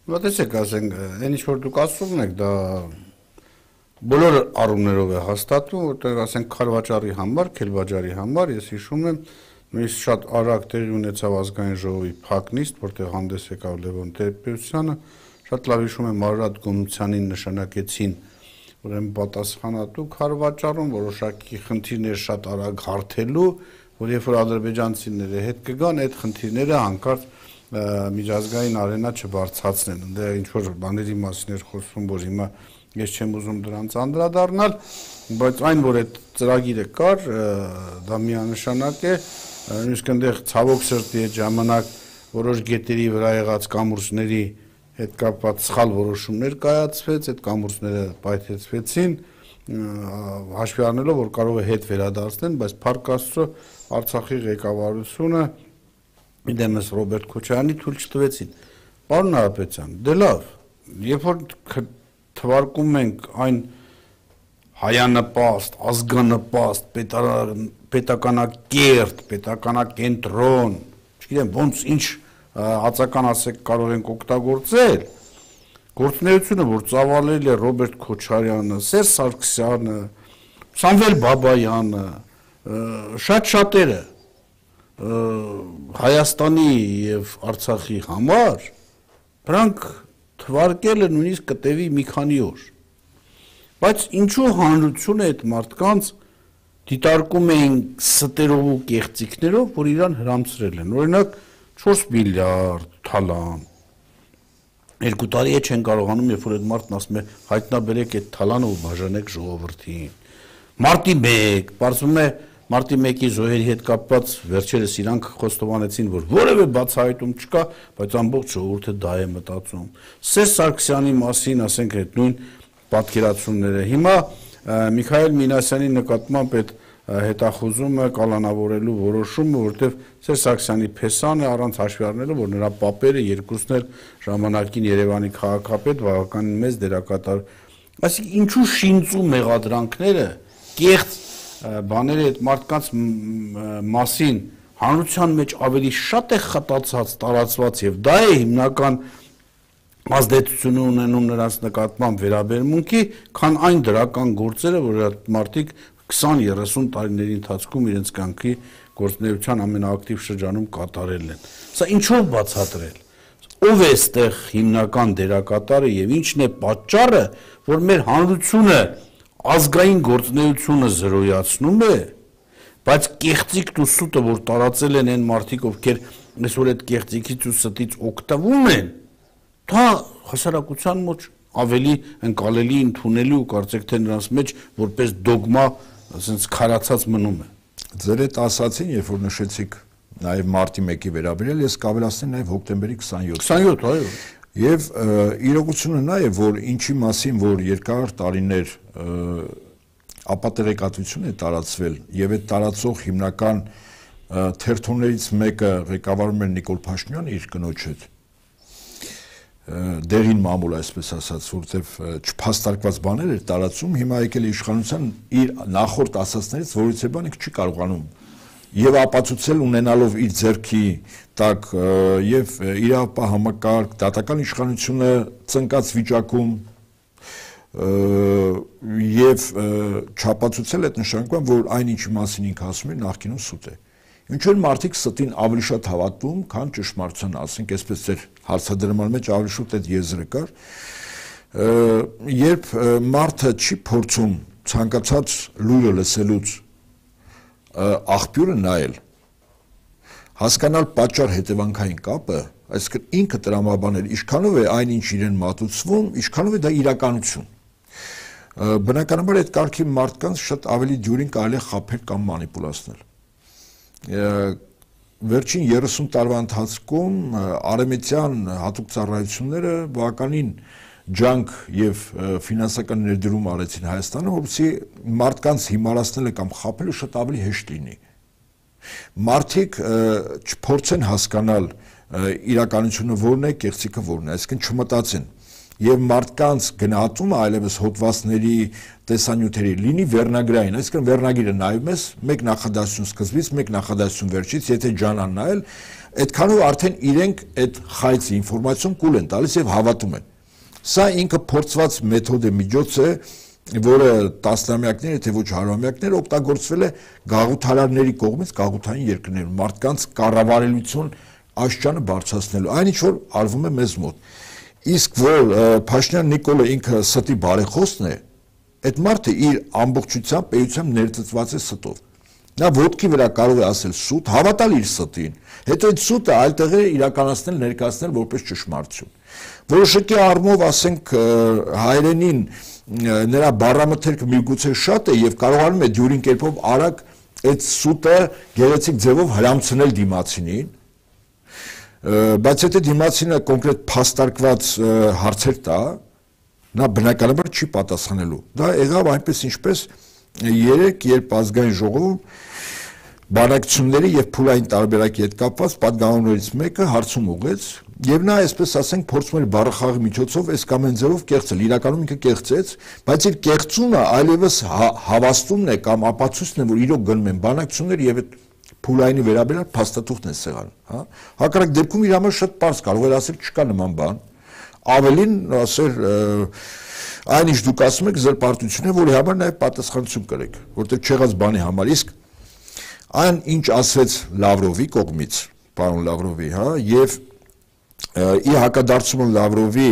Հիմա տեսեք, ասենք, այն ինչ որ դուք ասում եք, դա բոլոր առումներով է հաստատվում, որտեղ ասենք Քարվաճարի համար, Քելվաճարի համար, ես հիշում եմ, նույնիսկ շատ արագ տեղի ունեցավ ազգային ժողովի փակ նիստ, որտեղ հանդես եկավ Լևոն Տեր-Պետրոսյանը, շատ լավ հիշում եմ Մարատ Գոմցյանին նշանակեցին, ուրեմն պատասխանատու Քարվաճարում որոշակի խնդիրներ շատ արագ հարթելու, որ երբ որ ադրբեջանցիները հետ կգան, այդ խնդիրները հանկարծ միջազգային արենա չբարձրացնեն։ Դա ինչ որ բաների մասին էր խոսվում, որ հիմա ես չեմ ուզում դրանց անդրադառնալ, բայց այն որ այդ ծրագիրը կար, դա միանշանակ է, նույնիսկ այնտեղ ցավոք սրտի այդ ժամանակ որոշ գետերի վրա եղած կամուրսների հետ կապված սխալ որոշումներ կայացվեց, այդ կամուրսները պայթեցվեցին, հաշվի առնելով, որ կարող է հետ վերադարձնեն, բայց Փառք Աստծո Արցախի ղեկավարությունը դեմս Ռոբերտ Քոչարյանի թույլ չտվեցին։ Պարոն Նահապետյան, դե լավ, երբ որ թվարկում ենք այն հայանպաստ, ազգանպաստ, պետականակերտ, պետականակենտրոն, չգիտեմ ոնց ինչ հացական ասեք կարող ենք օգտագործել, գործունեությունը, որ ծավալել է Ռոբերտ Քոչարյանը, Սերժ Սարգսյանը, Սամվել Բաբայանը, շատ շատերը Հայաստանի եւ Արցախի համար, դրանք թվարկելը նույնիսկ կտևի մի քանի օր։ Բայց ինչու հանրությունը այդ մարդկանց դիտարկում էին ստերով ու կեղծիքներով, որ իրան հրամցրել են։ Օրինակ 4 միլիարդ թալան։ 2 տարի է չեն կարողանում, երբ որ այդ մարդն ասում է հայտնաբերեք այդ թալանը ու բաժանեք ժողովրդին։ Մարտի 1, պարզվում է Մարտի 1-ի զոհերի հետ կապված վերջերս իրանք խոստովանեցին, որ որևէ բացահայտում չկա, բայց ամբողջ ժողովուրդը դա է մտածում։ Սերժ Սարգսյանի մասին, ասենք, այդ նույն պատկերացումները։ Հիմա Միքայել Մինասյանի նկատմամբ այդ հետախուզումը կալանավորելու որոշումը, որտեղ Սերժ Սարգսյանի փեսան է առանց հաշվի առնելու, որ նրա պապերը երկուսն էլ ժամանակին Երևանի քաղաքապետ բավականին մեծ դերակատար։ Այսինքն ինչու շինծու մեղադրանքները կեղծ բաները այդ մարդկանց մասին հանրության մեջ ավելի շատ է խտացած, տարածված եւ դա է հիմնական ազդեցություն ունենում նրանց նկատմամբ վերաբերմունքի, քան այն դրական գործերը, որ այդ մարդիկ 20-30 տարիների ընթացքում իրենց կյանքի գործունեության ամենաակտիվ շրջանում կատարել են։ Սա ինչով բացատրել։ Ով է այստեղ հիմնական դերակատարը եւ ինչն է պատճառը, որ մեր հանրությունը ազգային գործունեությունը զրոյացնում է, բայց կեղծիքն ու սուտը, որ տարածել են այն մարդիկ, ովքեր այսօր այդ կեղծիքից ու ստից օգտվում են, դա հասարակության մեջ ավելի ընկալելի, ընդունելի ու կարծեք թե նրանց մեջ որպես դոգմա ասենց քարացած մնում է։ Ձեր այդ ասացին, երբ որ նշեցիք նաև մարտի 1-ի վերաբերյալ, ես կավելացնեմ նաև հոկտեմբերի 27։ 27, այո։ Եվ իրողությունը նա է, որ ինչի մասին, որ երկար տարիներ ապատեղեկատվություն է տարածվել եւ այդ տարածող հիմնական թերթոններից մեկը ղեկավարում էր Նիկոլ Փաշինյանը իր կնոջ հետ դերին մամուլ այսպես ասած, որտեվ չփաստարկված բաներ էր տարածում, հիմա եկել է իշխանության իր նախորդ ասածներից, որից է բան չի կարողանում եւ ապացուցել ունենալով իր ձեռքի տակ եւ իրավապահ համակարգ դատական իշխանությունը ծնկած վիճակում եւ չապացուցել այդ նշանակում որ այն ինչի մասին ինքը ասում է նախկինում սուտ է ինչու են մարդիկ ստին ավելի շատ հավատում քան ճշմարտության ասենք այսպես ձեր հարցադրման մեջ ավելի շուտ այդ եզրը կար երբ մարդը չի փորձում ցանկացած լուրը լսելուց աղբյուրը նայել հասկանալ պատճառ հետևանքային կապը այսինքն ինքը տրամաբանել ինչքանով է այնինչ իրեն մատուցվում ինչքանով է դա իրականություն բնականաբար այդ կարգի մարդկանց շատ ավելի դյուրին կարելի է խաբել կամ մանիպուլացնել վերջին 30 տարվա ընթացքում արևմտյան հատուկ ծառայությունները բավականին ջանք եւ ֆինանսական ներդրում արեցին Հայաստանը, որովհետեւ մարդկանց հիմարացնելը կամ խաբելը շատ ավելի հեշտ լինի։ Մարդիկ չփորձեն հասկանալ իրականությունը որն է, կեղծիքը որն է, այսինքն չմտածեն։ Եվ մարդկանց գնահատումը այլևս հոդվածների տեսանյութերի լինի վերնագրային, այսինքն վերնագիրը նայում ես, մեկ նախադասություն սկզբից, մեկ նախադասություն վերջից, եթե ջանան նայել, այդքանով արդեն իրենք այդ խայծ ինֆորմացիան կուլ են տալիս եւ հավատում են։ Սա ինքը փորձված մեթոդ է, միջոց է, որը տասնամյակներ, եթե ոչ հարյուրամյակներ օգտագործվել է գաղութարարների կողմից գաղութային երկրներում, մարդկանց կառավարելիություն աշճանը բարձրացնելու, այն ինչ որ արվում է մեզ մոտ։ Իսկ որ Փաշինյան Նիկոլը ինքը ստի բարեխոսն է, այդ մարդը իր ամբողջությամբ պետությամբ ներծծված է ստով։ Նա ոտքի վրա կարող է ասել սուտ, հավատալ իր ստին, հետո այդ սուտը այլ տեղեր իրականացնել, ներկայացնել որպես ճշմարտություն։ Որոշակի առումով ասենք հայերենին նրա բառամթերքը միգուցե շատ է եւ կարողանում է դյուրին կերպով արագ այդ սուտը գեղեցիկ ձևով հրամցնել դիմացինին, բայց եթե դիմացինը կոնկրետ փաստարկված հարցեր տա, նա բնականաբար չի պատասխանելու։ Դա եղավ այնպես ինչպես երեք, երբ ազգային ժողովում բանակցությունների եւ փուլային տարբերակի հետ կապված պատգամավորներից մեկը հարցում ուղեց եւ նա այսպես ասենք փորձում էր բառախաղի միջոցով այս կամ այն ձևով կեղծել իրականում ինքը կեղծեց բայց իր կեղծումը այլևս հավաստումն է կամ ապացույցն է որ իրոք գնում են բանակցություններ եւ այդ փուլայինի վերաբերյալ փաստաթուղթն է սեղան հա հակառակ դեպքում իր համար շատ པարզ կարող էր ասել չկա նման բան ավելին ասել այնիշ դուք ասում եք ձեր պարտությունը որի համար նաեւ պատասխանատվություն կրեք որտեղ չեղած բանի համար իսկ այն ինչ ասվեց Լավրովի կողմից, պարոն Լավրովի, հա, եւ ի հակադարձումը Լավրովի,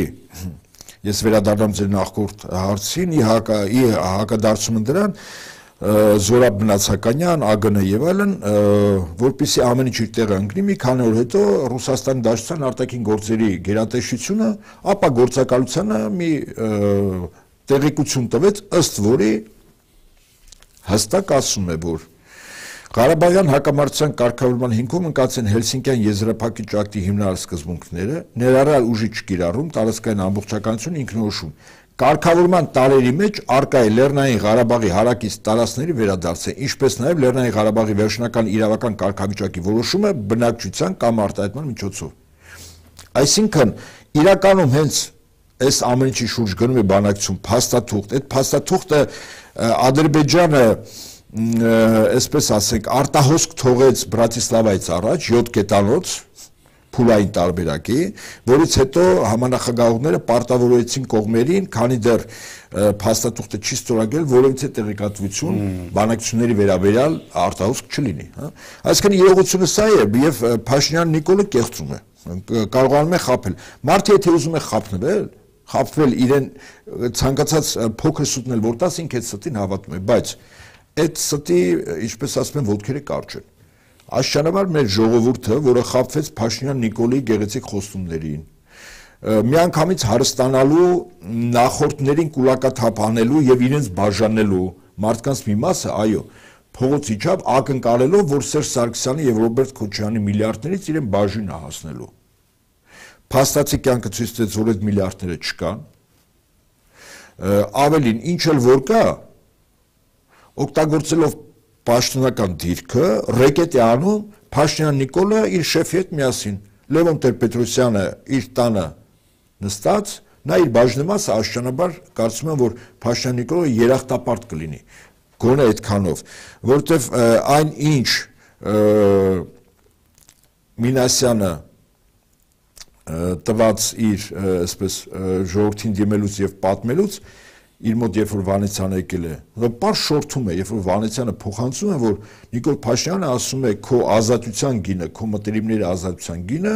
ես վերադառնամ ձեր նախորդ հարցին, ի հակադարձումը դրան Զորաբ Մնացականյան, ԱԳՆ եւ այլն, որպեսզի ամեն ինչ իր տեղը ընկնի, մի քանի օր հետո Ռուսաստանի Դաշնության արտաքին գործերի գերատեսչությունը, ապա գործակալությանը մի տեղեկություն տվեց, ըստ որի հստակ ասում է, որ Ղարաբաղյան հակամարտության կարգավորման հիմքում ընկած են Հելսինկյան եզրափակիչ ակտի հիմնարար սկզբունքները, ներառյալ ուժի չկիրառում, տարածքային ամբողջականություն, ինքնորոշում։ Կարգավորման տարերի մեջ առկա է Լեռնային Ղարաբաղի հարակից տարածքների վերադարձը, ինչպես նաև Լեռնային Ղարաբաղի վերջնական իրավական կարգավիճակի որոշումը բնակչության կամ արտահայտման միջոցով։ Այսինքն, իրականում հենց այս ամեն ինչի շուրջ գնում է բանակցություն, փաստաթուղթ, այդ փաստաթուղթը Ադրբեջանը այսպես ասենք արտահոսք թողեց Բրատիսլավայից առաջ 7 կետանոց փուլային տարբերակի, որից հետո համանախագահողները պարտավորեցին կողմերին, քանի դեռ փաստաթուղթը չի ստորագրել, որովհետեւ տեղեկատվություն բանակցությունների վերաբերյալ արտահոսք չլինի, հա։ Այսինքն իրողությունը սա է եւ Փաշինյան Նիկոլը կեղծում է, կարողանում է խաբել։ Մարդը եթե ուզում է խաբվել իրեն ցանկացած փոքր սուտնել որ տաս ինքը այդ ստին հավատում է, բայց այդ ստի, ինչպես ասում են, ոտքերը կարճ են։ Աշճանաբար մեր ժողովուրդը, որը խաբվեց Փաշինյան Նիկոլի գեղեցիկ խոստումներին, միանգամից հարստանալու, նախորդներին կուլակաթափ անելու եւ իրենց բաժանելու մարդկանց մի մասը, այո, փողոց իջավ ակնկալելով, որ Սերժ Սարգսյանի եւ Ռոբերտ Քոչարյանի միլիարդներից իրեն բաժին է հասնելու։ Փաստացի կյանքը ցույց տվեց, որ այդ միլիարդները չկան։ Ավելին, ինչ էլ որ կա, օգտագործելով պաշտոնական դիրքը, ռեկետ է անում Փաշինյան Նիկոլը իր շեֆի հետ միասին։ Լևոն Տեր-Պետրոսյանը իր տանը նստած, նա իր բաժնեմասը աշճանաբար կարծում եմ, որ Փաշինյան Նիկոլը երախտապարտ կլինի, գոնե այդքանով, որովհետև այն ինչ Մինասյանը տված իր այսպես ժողովրդին դիմելուց եւ պատմելուց իր մոտ երբ որ Վանեցյանը եկել է, պարզ շորթում է, երբ որ Վանեցյանը փոխանցում է, որ Նիկոլ Փաշինյանը ասում է քո ազատության գինը, քո մտերիմների ազատության գինը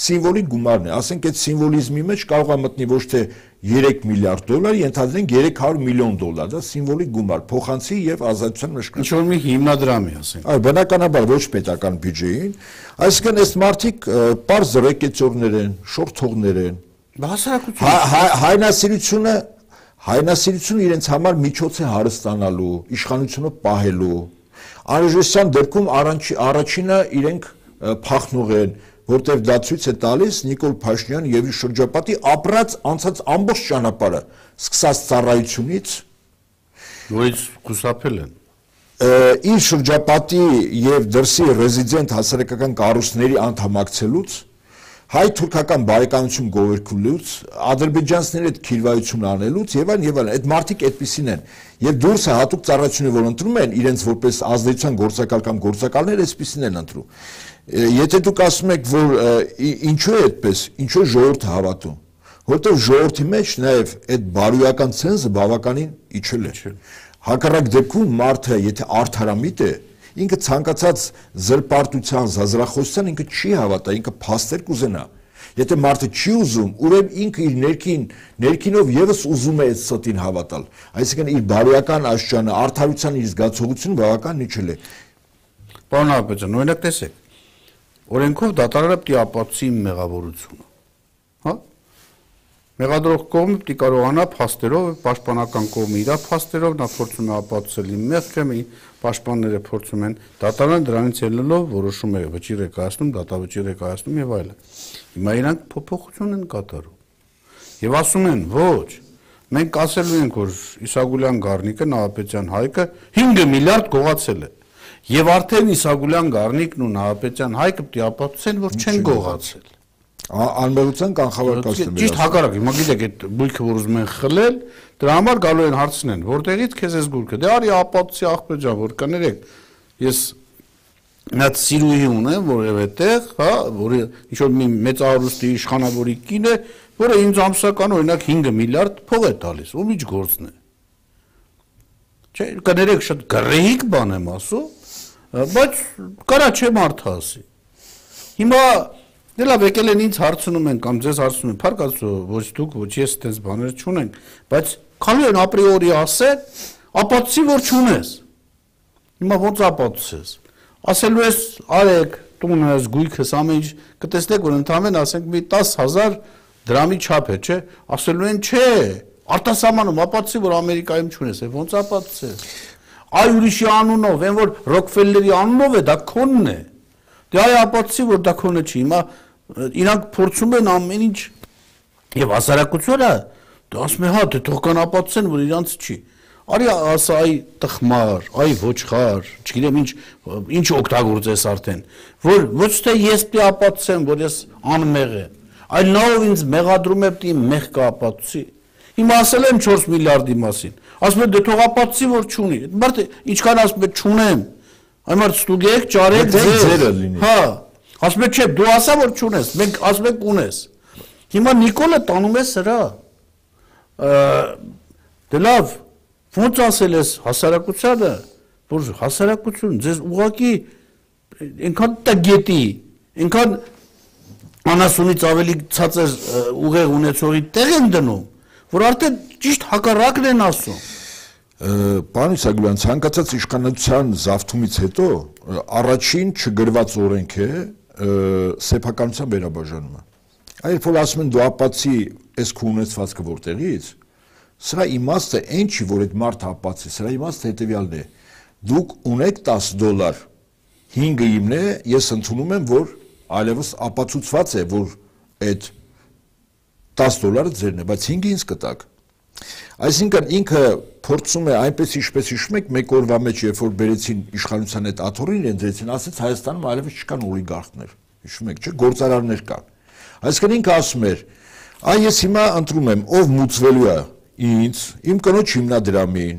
սիմվոլիկ գումարն է, ասենք այդ սիմվոլիզմի մեջ կարող է մտնի ոչ թե 3 միլիարդ դոլար, ենթադրենք 300 միլիոն դոլար, դա սիմվոլիկ գումար, փոխանցի եւ ազատության մշկած։ Ինչ որ մի հիմնադրամի ասենք։ Այո, բնականաբար ոչ պետական բյուջեին, այսինքն այս մարդիկ պարզ ռեկետյորներ են, շորթողներ են։ Հայնասիրությունը իրենց համար միջոց է հարստանալու, իշխանությունը պահելու։ Անհրաժեշտության դեպքում առաջինը իրենք փախնող են, որտեղ դա ցույց է տալիս Նիկոլ Փաշինյան եւ իր շրջապատի ապրած անցած ամբողջ ճանապարհը, սկսած ծառայությունից, որից խուսափել են։ Իր շրջապատի եւ դրսի ռեզիդենտ հասարակական կառույցների անդամակցելուց, հայ-թուրքական բարեկամություն գովերքուլուց, ադրբեջանցիների հետ քիրվայություն անելուց եւ այլն, այդ մարդիկ այդպիսին են։ Եվ դուրսը հատուկ ծառայություններ որ ընտրում են, իրենց որպես ազդեցության գործակալ կամ գործակալներ այսպիսին են ընտրում։ Եթե դուք ասում եք, որ ինչու է այդպես, ինչու է ժողովուրդը հավատում, որովհետև ժողովրդի մեջ նաև այդ բարոյական ցենզը բավականին իջել է։ Հակառակ դեպքում մարդը, եթե արդարամիտ է, ինքը ցանկացած զրպարտության, զազրախոսության ինքը չի հավատա, ինքը փաստեր կուզենա։ Եթե մարդը չի ուզում, ուրեմն ինքը իր ներքինով եւս ուզում է այդ ստին հավատալ։ Այսինքն իր բարոյական աշճանը, արդարության իր զգացողությունը բավական իջել է։ Պարոն Հապետյան, օրինակ տեսեք, օրենքով դատարանը պիտի ապացուցի մեղավորությունը, հա? Մեղադրող կողմը պիտի կարողանա փաստերով, պաշտպանական կողմը իր փաստերով նա փորձում է ապացուցել իմ մեղքը, պաշտպանները փորձում են, դատարանը դրանից ելնելով որոշում է վճիռ է կայացնում, դատավճիռ է կայացնում եւ այլն։ Հիմա իրանք փոփոխություն են կատարում։ Եվ ասում են, ոչ, մենք ասելու ենք, որ Իսագուլյան Գառնիկը, Նահապետյան Հայկը 5 միլիարդ գողացել է։ Եվ արդեն Իսագուլյան Գառնիկն ու Նահապետյան Հայկը պիտի ապացուցեն, որ չեն գողացել։ Անմեղության կանխավարկածն է։ Ճիշտ հակառակ, հիմա գիտեք այդ բույքը որ ուզում են խլել, դրա համար գալու են հարցնեն, որտեղից քեզ էս գույքը։ Դե արի ապացուցի աղբեր ջան, որ կներեք, ես նա սիրուհի ունեմ որևէ տեղ, հա, որը ինչ որ մի մեծարարուստի իշխանավորի կին է, որը ինձ ամսական օրինակ 5 միլիարդ փող է տալիս, ում ինչ գործն է։ Չէ, կներեք շատ գրեհիկ բան եմ ասում, բայց կարա չէ մարդը ասի։ Հիմա դե լավ եկել են ինձ հարցնում են կամ ձեզ հարցնում են, փառքացու, ոչ դուք, ոչ ես այդպես բաներ չունենք, բայց քանի են ապրիորի ասել, ապացուցի որ չունես։ Հիմա ո՞նց ապացուցես։ Ասելու ես արեք, տունը ես գույքս ամեն ինչ կտեսնեք որ ընդամեն ասենք մի 10000 դրամի չափ է, չէ։ Ասելու են չէ, արտասահմանում ապացուցի որ Ամերիկայում չունես, ո՞նց ապացուցես։ Այ ուրիշի անունով, այն որ Ռոքֆելլերի անունով է, դա քոնն է։ Դե այ ապացուցի որ դա քոնը չի։ Հիմա իրանք փորձում են ամեն ինչ եւ հասարակությունը դե ասում է հա դե թող կան ապացուցեն որ իրանց չի։ Արի ասա այ տխմար, այ ոչխար, չգիտեմ ինչ օգտագործես արդեն, որ ոչ թե ես պիտի ապացուցեմ, որ ես անմեղ եմ, այլ նա ով ինձ մեղադրում է պիտի մեղք ապացուցի։ Հիմա ասել եմ 4 միլիարդի մասին, ասում է դե թող ապացուցի որ չունի։ Մարդը ինչքան ասում է չունեմ, այ մարդ ստուգեք, ճարեք ձերը լինի։ Հա, ասում է չէ, դու ասա որ չունես, մենք ասում ենք ունես։ Հիմա Նիկոլը տանում է սրա։ Դե լավ ոնց ասել ես հասարակությանը, որ հասարակություն ձեզ ուղղակի այնքան տգետի, այնքան անասունից ավելի ցածր ուղեղ ունեցողի տեղ են դնում, որ արդեն ճիշտ հակառակն են ասում։ Պարոն Իսագուլյան, ցանկացած իշխանության զավթումից հետո առաջին չգրված օրենք է սեփականության վերաբաժանումը։ Երբ որ ասում են դու ապացի այս քո ունեցվածքը որտեղից, սրա իմաստը այն չի, որ այդ մարդը ապացի, սրա իմաստը հետևյալն է. դուք ունեք $10, 5-ը իմն է, ես ընդունում եմ, որ այլևս ապացուցված է, որ այդ $10 ձերն է, բայց 5-ը ինձ կտակ։ Այսինքն ինքը փորձում է այնպես ինչպես հիշում եք մեկ օրվա մեջ երբ որ բերեցին իշխանության այդ աթոռին իրեն դրեցին ասեց Հայաստանում այլևս չկան օլիգարխներ հիշում եք չէ գործարարներ կան այսինքն ինքը ասում էր այ ես հիմա ընտրում եմ ով մուծվելու է ինձ իմ կնոջ հիմնադրամին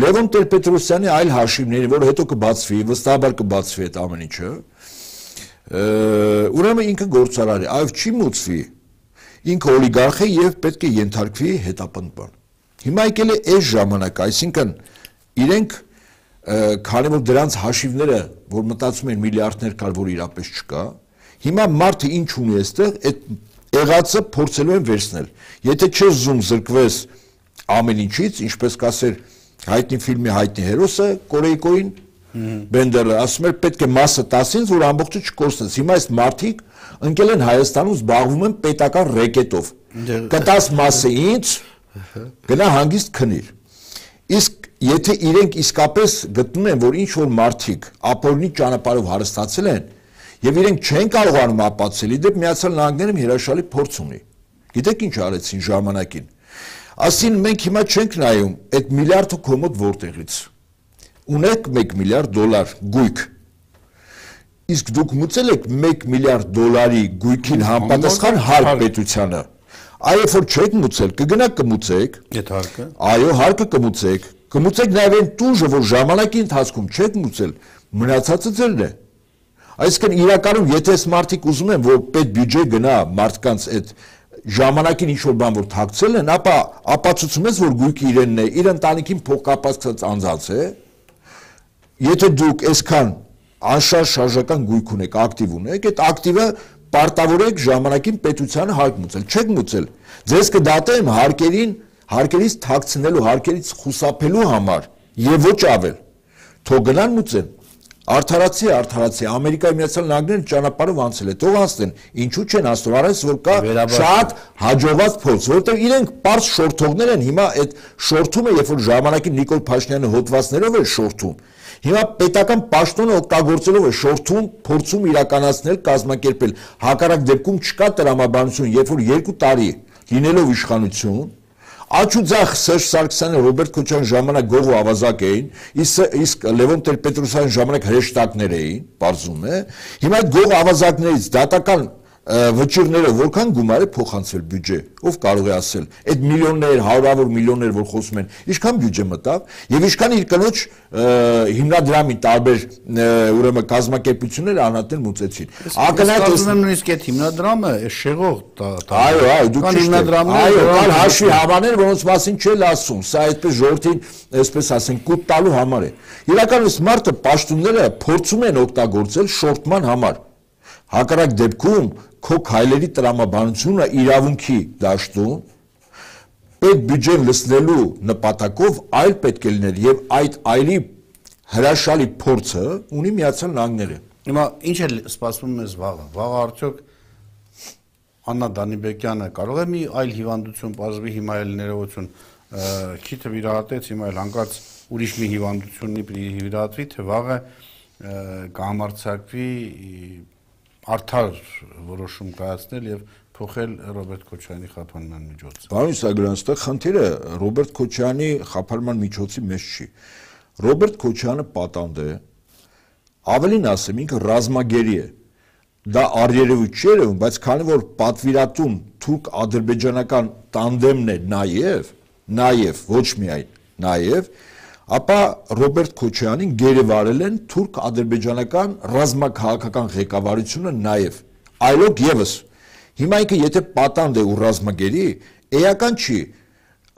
Լևոն Տեր-Պետրոսյանի այլ հաշիվների որ հետո կբացվի վստահաբար կբացվի այդ ամեն ինչը ուրեմն ինքը գործարար է այլ չի մուծվի ինքը օլիգարխ է եւ պետք է ենթարկվի հետապնդման Հիմա եկել է այս ժամանակը, այսինքն իրենք քանի որ դրանց հաշիվները, որ մտածում են միլիարդներ կար, որ իրապես չկա, հիմա մարդը ինչ ունի այստեղ, այդ եղածը փորձելու են վերցնել։ Եթե չես զում զրկվես ամեն ինչից, ինչպես կասեր հայտնի ֆիլմի հայտնի հերոսը, Կորեյկոին Բենդերը ասում էր պետք է մասը 10-ից, որ ամբողջը չկորցնես։ Հիմա այս մարդիկ ընկել են Հայաստանում զբաղվում են պետական ռեկետով։ Կտաս մասը ինձ Գնա հանգիստ քնիր։ Իսկ եթե իրենք իսկապես գտնում են, որ ինչ որ մարդիկ ապօրինի ճանապարհով հարստացել են, եւ իրենք չեն կարողանում ապացուցել, իդեպ Միացյալ Նահանգներում հրաշալի փորձ ունի։ Գիտեք ինչ արեցին ժամանակին։ Ասին մենք հիմա չենք նայում այդ միլիարդը կոմոդ որտեղից։ Ունեք $1 միլիարդ գույք։ Իսկ դուք մուծել եք $1 միլիարդ գույքին համապատասխան հարկ պետությանը։ Այո, որ չեք մուծել, կգնաք կմուծեք։ Այդ հարկը։ Այո, հարկը կմուծեք։ Կմուծեք նաև այն տուժը, որ ժամանակի ընթացքում չեք մուծել, մնացածը ձերն է։ Այսինքն իրականում եթե այս մարդիկ ուզում են, որ պետ բյուջե գնա մարդկանց այդ ժամանակին ինչ որ բան որ թաքցել են, ապա ապացուցում ես, որ գույքը իրենն է, իր ընտանիքին փոխկապակցած անձած է։ Եթե դուք այսքան անշարժ շարժական գույք ունեք, ակտիվ ունեք, այդ ակտիվը Պարտավորեք ժամանակին պետությանը հարկ մուծել, չեք մուծել։ Ձեզ կդատեմ հարկերից թաքցնելու, հարկերից խուսափելու համար եւ ոչ ավել։ Թող գնան մուծեն։ Արդարացի, Ամերիկայի Միացյալ Նահանգները ճանապարհով անցել է, թող անցնեն։ Ինչու չեն անցնում, առանց որ կա շատ հաջողված փորձ, որտեղ իրենք པարզ շորթողներ են, հիմա այդ շորթումը, երբ որ ժամանակին Նիկոլ Փաշինյանը հոդվածներով էր շորթում, Հիմա պետական պաշտոնը օգտագործելով է շորթում, փորձում իրականացնել, կազմակերպել։ Հակառակ դեպքում չկա տրամաբանություն, երբ որ 2 տարի լինելով իշխանություն, Աչուձախ Սերժ Սարգսյանը, Ռոբերտ Քոչարյանի ժամանակ գողու ավազակ էին, իսկ Լևոն Տեր-Պետրոսյանի ժամանակ հրեշտակներ էին, պարզում է։ Հիմա այդ գող ավազակներից դատական վճիռները որքան գումար է փոխանցվել բյուջե, ով կարող է ասել, այդ միլիոններ, հարյուրավոր միլիոններ, որ խոսում են, ինչքան բյուջե մտավ, եւ ինչքան իր կնոջ հիմնադրամի տարբեր ուրեմն կազմակերպությունները անհատներ մուծեցին։ Ակնհայտ եմ նույնիսկ այդ հիմնադրամը, այս շեղող այո, դուք այո, կան հաշվի հավաներ, որոնց մասին չել ասում, սա այդպես ժողովրդին, այսպես ասենք, կուտ տալու համար է։ Իրականում այս մարդը պաշտոնները փորձում են օգտագործել շորտման համար։ Հակառակ դեպքում քո քայլերի տրամաբանությունը իրավունքի դաշտում պետ բյուջեն լցնելու նպատակով այլ պետք է լինել եւ այդ այլի հրաշալի փորձը ունի Միացյալ Նահանգները։ Հիմա ինչ է սպասվում մեզ վաղը։ Վաղը արդյոք Աննա Դանիբեկյանը կարող է մի այլ հիվանդություն բազվի հիմա էլ ներողություն քիթը վիրահատեց հիմա էլ հանկարծ ուրիշ մի հիվանդությունի վիրահատվի թե վաղը կհամարձակվի արդար որոշում կայացնել եւ փոխել Ռոբերտ Քոչարյանի խափանման միջոցը։ Պարոն Իսագոյան, այստեղ խնդիրը Ռոբերտ Քոչարյանի խափանման միջոցի մեջ չի։ Ռոբերտ Քոչարյանը պատանդ է, ավելին ասեմ, ինքը ռազմագերի է։ Դա առերևույթ չի երևում, բայց քանի որ պատվիրատուն թուրք-ադրբեջանական տանդեմն է նաեւ ոչ միայն նաեւ ապա Ռոբերտ Քոչարյանին գերեվարել են թուրք-ադրբեջանական ռազմաքաղաքական ղեկավարությունը նաև այլոք եւս հիմա ինքը եթե պատանդ է ու ռազմագերի էական չի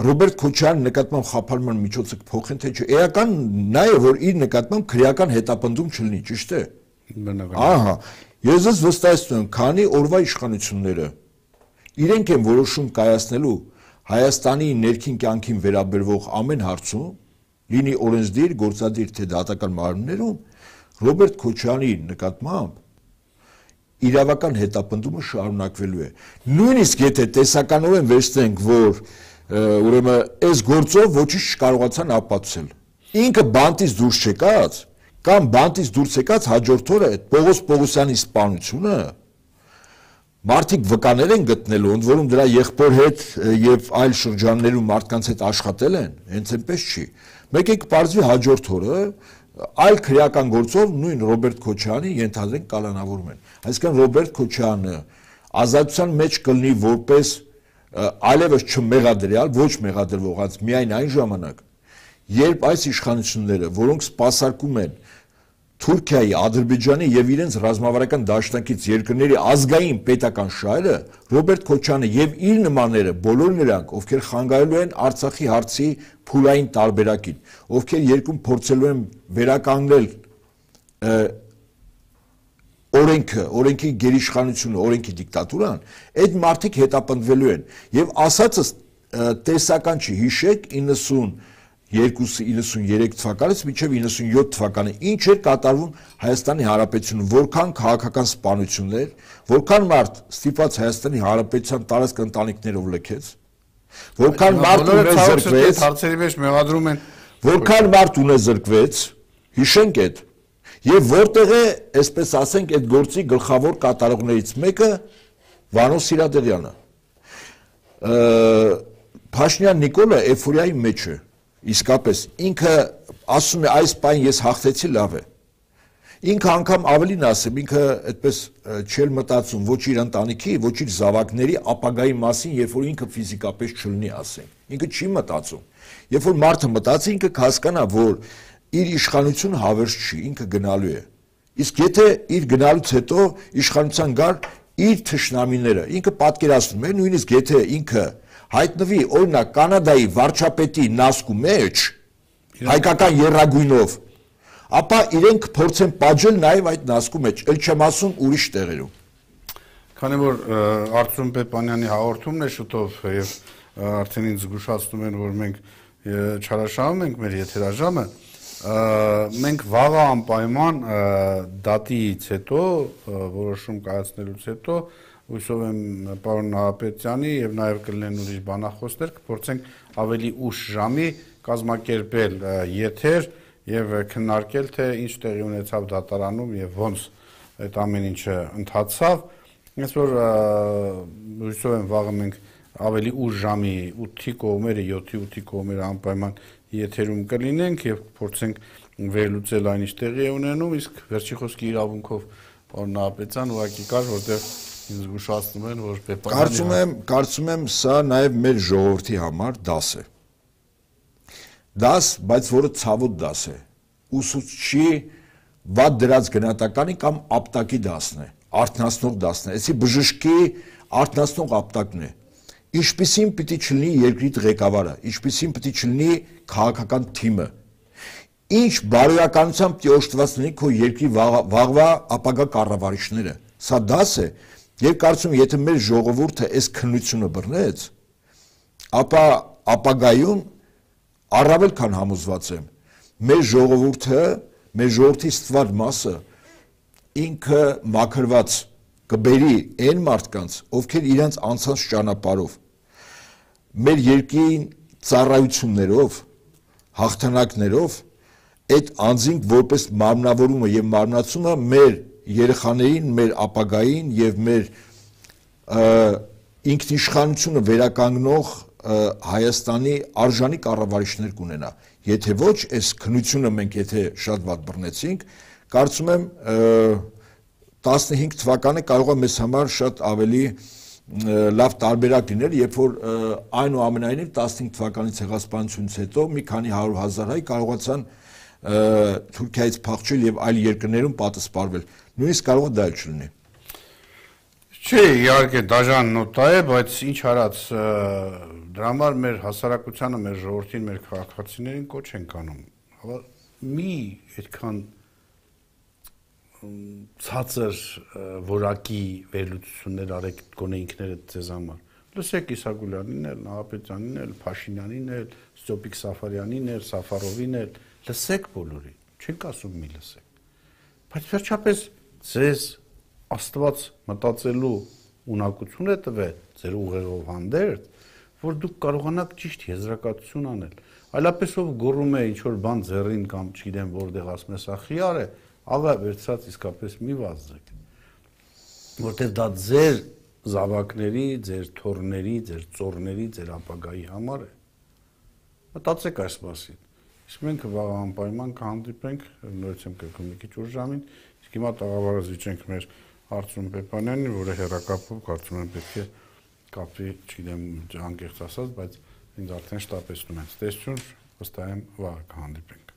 Ռոբերտ Քոչարյանի նկատմամբ խափանման միջոցը կփոխեն թե չէ էական նա է որ իր նկատմամբ քրեական հետապնդում չլինի ճիշտ է ահա ես վստահեցնում եմ քանի օրվա իշխանությունները իրենք են որոշում կայացնելու Հայաստանի ներքին կյանքին վերաբերվող ամեն հարցում, լինի օրենսդիր, գործադիր թե դատական մարմիններում, Ռոբերտ Քոչարյանի նկատմամբ իրավական հետապնդումը շարունակվելու է։ Նույնիսկ եթե տեսականորեն վերցնենք, որ ուրեմն այս գործով ոչինչ չկարողացան ապացուցել։ Ինքը բանտից դուրս չեկած կամ բանտից դուրս եկած հաջորդ օրը այդ Պողոս Պողոսյանի սպանությունը մարդիկ վկաներ են գտնելու, ընդ որում դրա եղբոր հետ եւ այլ շրջաններում մարդկանց հետ աշխատել են, հենց այնպես չի։ Մեկ է կպարզվի հաջորդ օրը այլ քրեական գործով նույն Ռոբերտ Քոչարյանի ենթադրենք կալանավորում են։ Այսինքն Ռոբերտ Քոչարյանը ազատության մեջ կլինի որպես այլևս չմեղադրյալ, ոչ մեղադրվողած միայն այն ժամանակ, երբ այս իշխանությունները, որոնք սպասարկում են Թուրքիայի, Ադրբեջանի եւ իրենց ռազմավարական դաշնակից երկրների ազգային պետական շահերը, Ռոբերտ Քոչարյանը եւ իր նմանները, բոլոր նրանք, ովքեր խանգարելու են Արցախի հարցի փուլային տարբերակին, ովքեր երկում փորձելու են վերականգնել օրենքը, օրենքի գերիշխանությունը, օրենքի դիկտատուրան, այդ մարդիկ հետապնդվելու են եւ ասածս տեսական չի, հիշեք 92-93 թվականից մինչև 97 թվականը ինչ էր կատարվում Հայաստանի Հանրապետությունում, որքան քաղաքական սպանություններ, որքան մարդ ստիպված Հայաստանի Հանրապետության տարածք ընտանիքներով լքեց, որքան մարդ ունեզրկվեց, հարցերի մեջ մեղադրում են, որքան մարդ ունեզրկվեց, հիշենք այդ, եւ որտեղ է, այսպես ասենք, այդ գործի գլխավոր կատարողներից մեկը Վանո Սիրադեղյանը։ Փաշինյան Նիկոլը էֆորիայի մեջ է, իսկապես ինքը ասում է այս պայն ես հաղթեցի, լավ է։ Ինքը անգամ ավելին ասեմ, ինքը այդպես չել մտածում ոչ իր ընտանիքի, ոչ իր զավակների ապագայի մասին, երբ որ ինքը ֆիզիկապես չլինի, ասենք։ Ինքը չի մտածում։ Երբ որ մարդը մտածի, ինքը կհասկանա, որ իր իշխանությունը հավերժ չի, ինքը գնալու է։ Իսկ եթե իր գնալուց հետո իշխանության գար իր թշնամիները, ինքը պատկերացնում է, նույնիսկ եթե ինքը հայտնվի օրինակ Կանադայի վարչապետի նասկու մեջ, հայկական եռագույնով, ապա իրենք փորձեն պատժել նաև այդ նասկու մեջ, ել չեմ ասում ուրիշ տեղերում։ Քանի որ Արծրուն Պեպանյանի հաղորդումն է շուտով եւ արդեն ինձ զգուշացնում են, որ մենք չարաշահում ենք մեր եթերաժամը, մենք վաղը անպայման դատից հետո, որոշում կայացնելուց հետո, հույսով եմ պարոն Նահապետյանի եւ նաեւ կլինեն ուրիշ բանախոսներ, կփորձենք ավելի ուշ ժամի կազմակերպել եթեր եւ քննարկել, թե ինչ տեղի ունեցավ դատարանում եւ ոնց այդ ամեն ինչը ընթացավ։ Ես որ հույսով եմ վաղը մենք ավելի ուշ ժամի 8-ի կողմերը, 7-ի 8-ի կողմերը անպայման եթերում կլինենք եւ փորձենք վերլուծել այն ինչ տեղի է ունենում, իսկ վերջի խոսքի իրավունքով պարոն Նահապետյան ուղղակի կար, որտեղ ինձ զգուշացնում են, որ Պեպանյանը Կարծում եմ սա նաեւ մեր ժողովրդի համար դաս է։ Դաս, բայց որը ցավոտ դաս է։ Ուսուցչի վատ դրած գնահատականի կամ ապտակի դասն է, արթնացնող դասն է։ Այսի բժշկի արթնացնող ապտակն է։ Ինչպիսին պիտի չլինի երկրի ղեկավարը, ինչպիսին պիտի չլինի քաղաքական թիմը։ Ինչ բարոյականությամբ պիտի օժտված լինի քո երկրի վաղվա ապագա կառավարիչները։ Սա դաս է, եւ կարծում եմ, եթե մեր ժողովուրդը այս քննությունը բռնեց, ապա ապագայում առավել քան համոզված եմ, մեր ժողովրդի ստվար մասը ինքը մաքրված կբերի այն մարդկանց, ովքեր իրենց անցած ճանապարհով մեր երկրին ծառայություններով, հաղթանակներով այդ անձինք որպես մարմնավորումը եւ մարմնացումը մեր երեխաներին, մեր ապագային եւ մեր ինքնիշխանությունը վերականգնող Հայաստանի արժանի կառավարիչներ կունենա։ Եթե ոչ, այս քննությունը մենք եթե շատ վատ բռնեցինք, կարծում եմ 15 թվականը կարող է մեզ համար շատ ավելի լավ տարբերակ լինել, երբ որ այնուամենայնիվ 15 թվականի ցեղասպանությունից հետո մի քանի 100,000 հայ կարողացան Թուրքիայից փախչել եւ այլ երկրներում պատասպարվել։ Նույնիսկ կարող է դա չլինի։ Չէ, իհարկե դաժան նոտա է, բայց ինչ արած, դրա համար մեր հասարակությանը, մեր ժողովրդին, մեր քաղաքացիներին կոչ ենք անում։ Մի այդքան ցածր որակի վերլուծություններ արեք գոնե ինքներդ ձեզ համար։ Լսեք Իսագուլյանին էլ, Նահապետյանին էլ, Փաշինյանին էլ, Ստյոպիկ Սաֆարյանին էլ, Սաֆարովին էլ, լսեք բոլորին, չենք ասում մի լսեք։ Բայց վերջապես ձեզ Աստված մտածելու ունակություն է տվել ձեր ուղեղով հանդերձ, որ դուք կարողանաք ճիշտ եզրակացություն անել։ Այլապես ով գոռում է ինչ որ բան ձեռին կամ չգիտեմ որտեղ ասում է սա խիար է, աղա վերցած իսկապես մի վազեք։ Որտեղ դա ձեր զավակների, ձեր թոռների, ձեր ծոռների, ձեր ապագայի համար է։ Մտածեք այս մասին։ Իսկ մենք վաղ անպայման կհանդիպենք, նորից եմ կրկնում մի քիչ ուշ ժամին, իսկ հիմա տաղավարը զիջենք մեր Արծրուն Պեպանյանին, որը հեռակապով կարծում եմ պետք է կապի, չգիտեմ, անկեղծ ասած, բայց ինձ արդեն շտապեցնում են։ Տեսություն, վստահ եմ վաղ կհանդիպենք։